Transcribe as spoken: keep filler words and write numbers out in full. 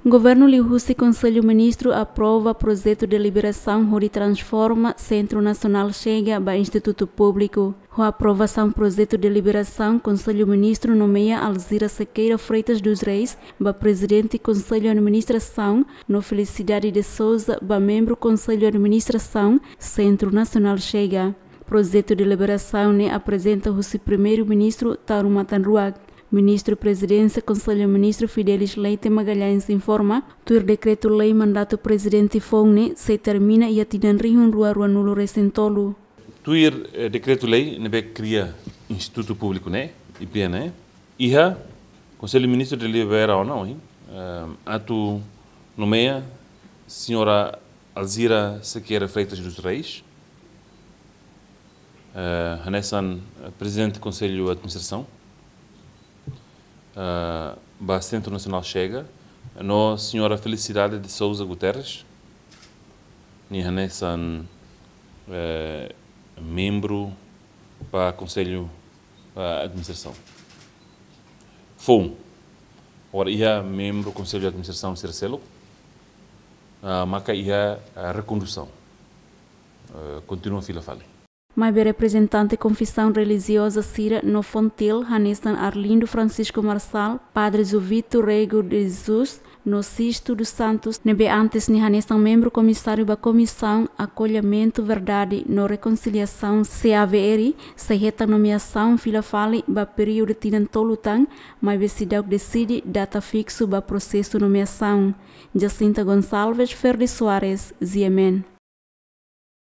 Governu liuhusi Konsellu Ministru aprova projetu deliberasaun hodi transforma Sentru Nasionál Chega ba Institutu Públiku. Ho aprovasaun projetu deliberasaun, Konsellu Ministru nomeia Alzira Sequeira Freitas dos Reis ba Prezidente Konsellu Administrasaun, no Felicidade de Souza ba membru Konsellu Administrasaun Sentru Nasionál Chega. Projetu deliberasaun ne'e aprezenta husi Primeiru-Ministru Taur Matan Ruak. Ministru Prezidénsia Konsellu Ministru Fidelis Leite Magalhães informa, tuir dekretu-lei mandatu prezidente foun ne'e sei termina iha tinan rihun rua rua-nulu resin tolu. Tuir, eh, dekretu-lei ne'ebé kria Institutu Públiku ne'e, I P N ne'e, iha Konsellu Ministru delibera ona ohin, eh, atu nomeia Señora Alzira Sequeira Freitas dos Reis, eh, hanesan, eh, Prezidente Konsellu Administrasaun, eh, ba Sentru Nasionál Chega, no Señora Felicidade de Souza Guterres, nia hanesan, eh, membru ba Konsellu, eh, Administrasaun. Foun, agora iha membru Konsellu Administrasaun sira seluk, ah, maka iha, ah, rekondusaun. Eh, kontinua fila fali. Maibé reprezentante konfesaun relijioza sira no Fontil, hanesan Arlindo Francisco Marçal, Padre Jovito Rego de Jesus, no Sisto dos Santos, ne'ebé antes nia hanesan membru komisáriu ba Komisaun Akollimentu, Verdade no Rekonsiliasaun, C A V R, sei hetan nomeasaun fila fali ba períodu tinan tolu tan, maibé seidauk deside data fiksu ba prosesu nomeasaun. Jacinta Gonçalves, Ferdi Soares, G M N.